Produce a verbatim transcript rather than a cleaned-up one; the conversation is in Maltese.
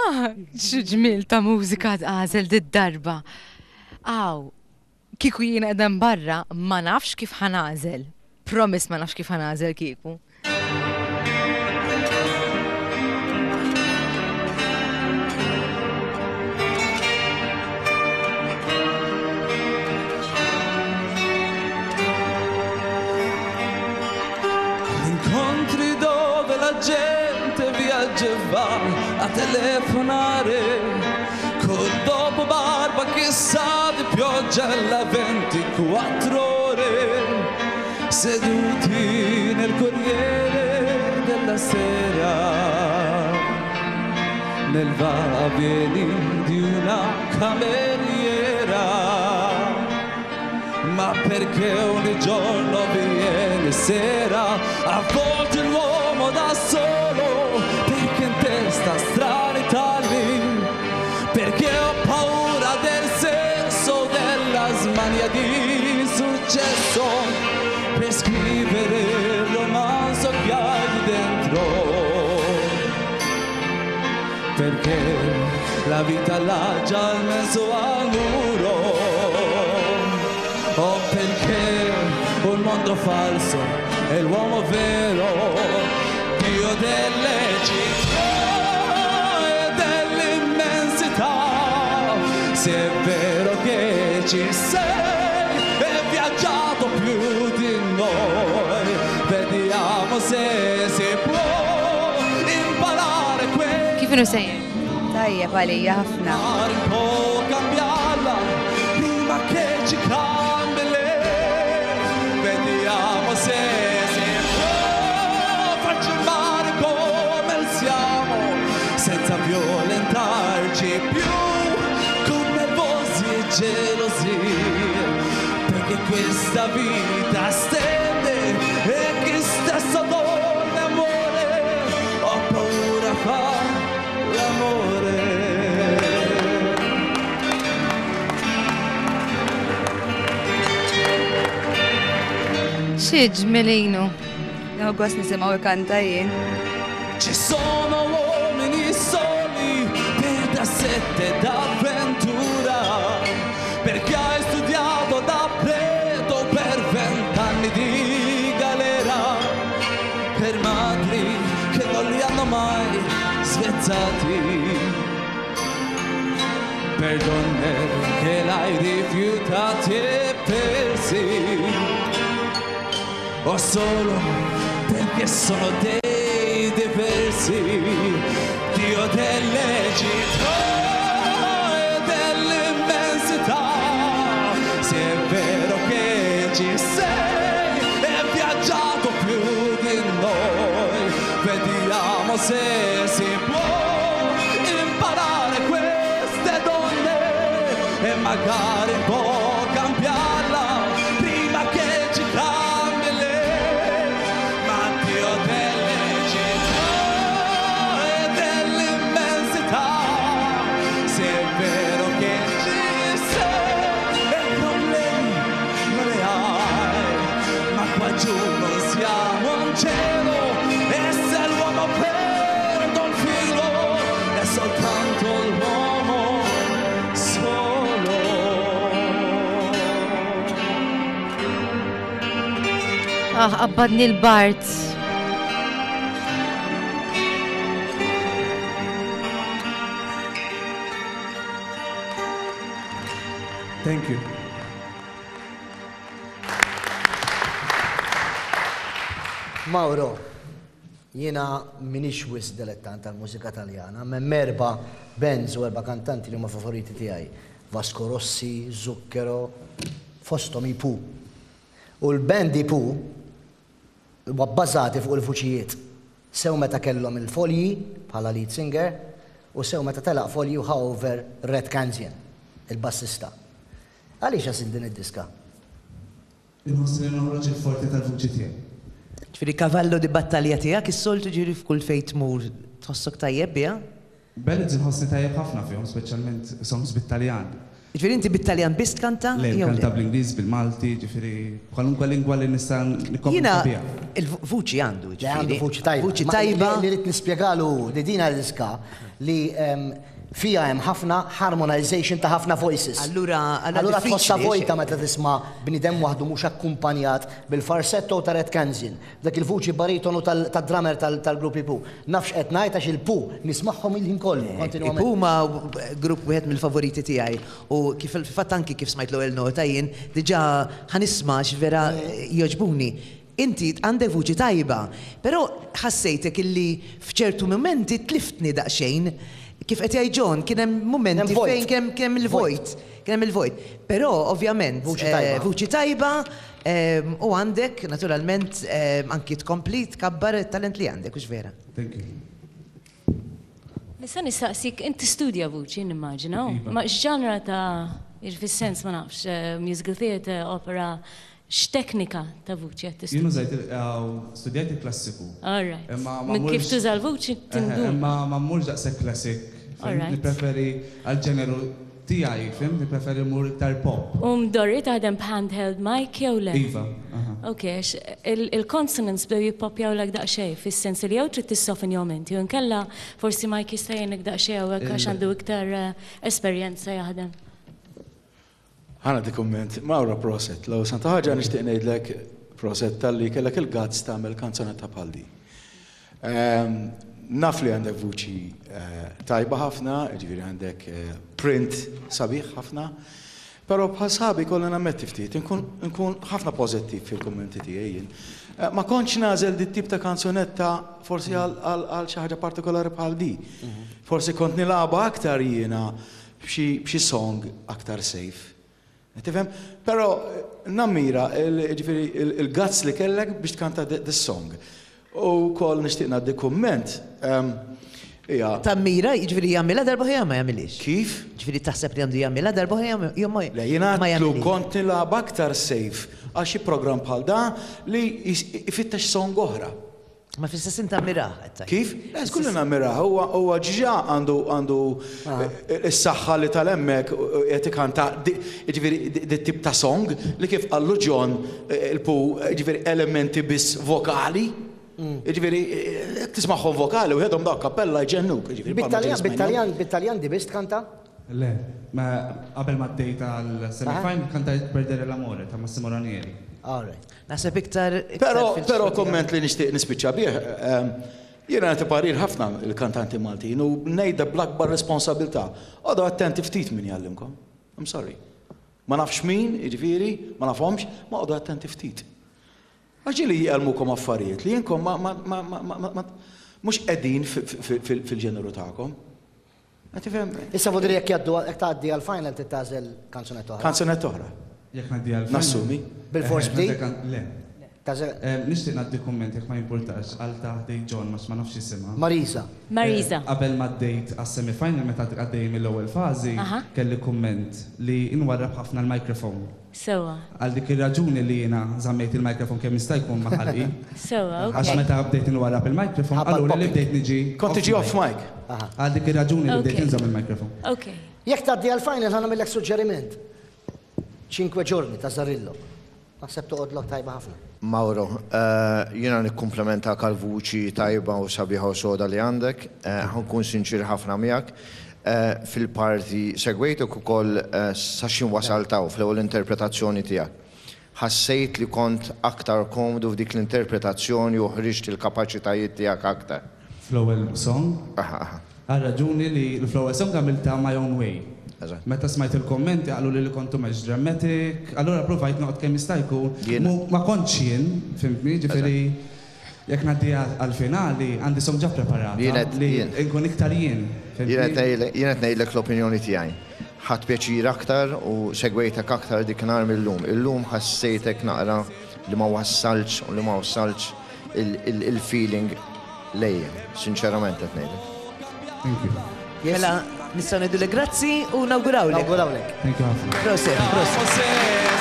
Ah, x'ġmiel ta' mużika għażel did-darba. Aw, kieku jiena qegħda barra ma nafx kif ħa nagħżel. Promise ma nafx kif ħa nagħżel kieku. Incontri dove la gente viaggia e va a telefonare col dopo barba che sa di pioggia alla ventiquattro ore seduti nel Corriere della Sera nel va vieni di una cameriera ma perché ogni giorno viene sera, a volte l'uomo da solo, perché in testa strani tagli, perché ho paura del senso della smania di successo, per scrivere il romanzo che hai dentro, perché la vita l'ha già messo al muro. O perché un mondo falso è l'uomo vero, Dio delle città e dell'immensità. Se è vero che ci sei e viaggiato più di noi, vediamo se si può imparare questo. Kif inhu sejjer? Tajjeb għalija ħafna. Un po' cambiarla prima che ci cambi lei. Vediamo se si può farci male come siamo, senza violentarci più con nervosi e gelosie, perché questa vita stende e chi stesso dorme amore, ho paura fa l'amore. Xi ġmielinu. Nieħu gost nisimgħu ikanta jien. Ci sono uomini soli per da sette d'avventura, perché hai studiato da preto per vent'anni di galera, per madri che non li hanno mai svezzati, per donne che l'hai rifiutati e persi, o solo perché sono dei diversi, Dio delle città e dell'immensità. Se è vero che ci sei e viaggiato più di noi, vediamo se si può imparare queste donne e magari un po' cambiarla prima che ci cambi lei. Ma Dio delle città e dell'immensità, se è vero che ci sei e problemi non ne hai, ma qua giù non siamo in cielo, e se l'uomo perde il filo è soltanto l'uomo solo. Ah, qabbadni l-bard. Thank you. Mauro, jiena m'iniex wisq dilettant tal-mużika Taljana, hemm erba' bands u erba' kantanti li huma favoriti tiegħi. Vasco Rossi, Zucchero, fosthom i Pooh. U l-band i Pooh huwa bbażati fuq il-vuċijiet. Sew meta kellhom il-Fogli bħala lead singer u sew meta telaq Fogli u ħa over Red Canzian, il-bassista. Għaliex għażilt din id-diska? Inħoss li noħroġ il-forti tal-vuċi tiegħi. Ġifieri cavallo di battalja tiegħek is-soltu ġifieri f'kull fejn tmur tħossok tajjeb biha? Ballads inħossni tajjeb ħafna fihom, speċjalment songs bit-Taljan. Ġifieri inti bit-Taljan biss tkanta? Le, jew kanta bl-Ingliż, bil-Malti, ġifieri kwalunkwe lingwa li nista' Jiena nikkomunika biha. il-vuċi għandu, Le, għandu ġifieri. vuċi tajba. Vuċi Ma tajba. Li rrid nispjegalu li dina diska li em, fija hemm ħafna harmonization ta' ħafna voices. Allura, Allura tħossha diffiċli, vojta meta tisma' bniedem waħdu mhux akkumpanjat bil-falsetto ta' Red Canzian, dak il-vuċi baritonu tad-drummer tal-grupp i Pooh. Nafx qed ngħid għax il-Pooh nismagħhom il-ħin kollu kontinwament. Huma grupp wieħed mill-favoriti tiegħi u kif fil-fatt anki kif smajt l-ewwel nota jien diġà ħa nisma' vera jogħġbuni. Inti għandek vuċi tajba, però ħassejtek illi f'ċertu momenti tliftni daqsxejn. Kif qed jgħid John, kien hemm momenti Hemm vojt. fejn kien kien hemm il-vojt. Kien hemm il-vojt. Però ovvjament Vuċi eh, tajba. vuċi tajba ehm, u għandek naturalment ehm, anki tkompli tkabbar it-talent li għandek, hux vera. Thank you. Nista' nistaqsik, inti studja vuċi, nimmaġina, Iva. ma x'ġanra ta' fis-sens ma nafx, eh, musical theatre, opera, x'teknika ta' vuċi qed Jien tistudja? użajt il- aw, studjajt il-klassiku. All right. Imma ma Minn kif mmurx- tuża l-vuċi Eh, tindun. Imma ma mmurx daqshekk classic. All right. Nippreferi għal-ġeneru tiegħi, fhimt? Nippreferi mmur iktar pop. U mdorri taħdem b'handheld mic jew le? Iva, aha. Ok, għax il- il-consonants bdew jippopjaw daqsxejn, fis-sens li jew trid tissoffinjahom inti, u nkella forsi Mike jista' jgħinek daqsxejn hawnhekk għax għandu iktar eh, esperjenza jaħdem. Ħa nagħti kumment, Mauro proset, l santa ħaġa nixtieq ngħidlek proset talli kellek il-guts tagħmel kanzonetta bħal di. Ehm, Naf li għandek vuċi eh, tajba ħafna, ġifieri għandek eh, print sabiħ ħafna, però bħal sħabi kollha nammetti ftit, nkun nkun ħafna pożittiv fil-kummenti tiegħi jien. Eh, Ma kontx nagħżel dit tip ta' kanzonetta forsi għal għal- għal xi ħaġa partikolari bħal di. Forsi kont nilgħabha aktar jiena b'xi b'xi song aktar safe. Tifhem? Però eh, nammira il- ġifieri il- il-guts li kellek biex tkanta this song. U kol nixtieq ngħaddi kumment. ehm, Ija, Tammira, jiġifieri jagħmilha darba oħra ma jagħmilix. kif? Ġifieri taħseb li għandu jagħmilha darba oħra jew ma Le, jiena ma għatlu jagħmilix. kont nilgħab aktar safe għal xi program bħal da li jis- ifittex song oħra. Ma fl-istess inti tammirah. qed tgħid. Kif? Le, skullu nammiraha, huwa huwa ġiġa għandu għandu eh, is-saħħa li tal-hemmhekk qed ikanta di- jiġifieri di- di tip ta' song li kif qallu John eh, il-Pooh jiġifieri elementi biss vokali. Jiġifieri eh, tismagħhom vokali u jedhom dak kappella jġennuk. jiġifieri, bħal ma Bit-Taljan, ġieli bit-Taljan, bit-Taljan di biss tkanta? Le, ma qabel ma għaddejt għal semifinal kantajt Perdere l'amore ta' Massimo Ranieri. All right. Naħseb iktar. iktar Pero, fil- pero komment li nixtieq nispiċċa bih, ehm, jiena nagħti parir ħafna il-kantanti Maltin u ngħidha bl-akbar responsabilità. Oqogħdu attenti ftit min jgħallimkom. I'm sorry. Ma nafx min, jiġifieri, ma nafhomx, ma oqogħdu attenti ftit. Għax li jgħallmukom affarijiet li jinkom ma ma ma ma ma ma mhux qegħdin fil-ġeneru tagħkom. Tifhem? Issa vodri jekk jgħaddu jekk tgħaddi għal-final tagħżel kanzunetta oħra. Kanzunetta oħra. Jekk ngħaddi għal Nassumi. Bil-fors bdi? Le. Tagħżel Eh, Nixtieq ngħaddi kumment jekk ma jimpurtax għal ta' ħdej John ma ma nafx jisimha. Marisa. Marisa. Eh, Qabel ma għaddejt għas-semifinal meta għaddej mill-ewwel fażi, Aha. kelli kumment li inwarrab ħafna l-mikrofon. Sewa, Għal dik ir-raġuni li jiena żammejt il-mikrofon kemm jista' jkun ma' ħalqi. sewa, Għax ok. meta bdejt inwarrab il-mikrofon, Ħabba allura li l-popping. bdejt niġi. Kont tiġi off mic. Għal dik ir-raġuni li bdejt Ok. inżomm il-mikrofon. Ok. Jekk tgħaddi għal-final ħa nagħmillek suġġeriment. Cinque giorni ta' Zarillo. Naħseb toqgħodlok tajba ħafna. Mauro, eh, jiena nikkumplimenta għal-vuċi tajba u sabiħa u soda li għandek, eh, ħa nkun sinċir ħafna miegħek. Eh, Fil-parti segwejtek ukoll eh, sa x'ħin wasalt hawn fl-ewwel interpretazzjoni tiegħek. Ħassejt li kont aktar komdu f'dik l-interpretazzjoni u ħriġt il-kapaċitajiet tiegħek aktar. Fl-ewwel song, Aha, aha. għal raġuni li fl-ewwel song għamilta my own way. Eżatt. Meta smajt il-kommenti qalu li li kontu mhux dramatic, allura provajt noqgħod kemm jista' jkun. Jien- Mu- Ma kontx jien, fhimtni, ġifieri jekk ngħaddi għal-finali għandi song ġa preparata Jien qed- li jien. nkun iktar jien. fhimtni? Jien qed ngħidlek- jien qed ngħidlek l-opinjoni tiegħi. Ħadt pjaċir aktar u segwejtek aktar dik nhar mill-lum. Illum ħassejtek naqra li ma wassalx u li ma wassalx il- il- il-feeling lejja, sinċerament qed ngħidlek. Thank you. Mela, nistgħu ngħidu grazzi u nawgurawlek. Nawgurawlek. Thank you ħafna. Proset, proset. Sera.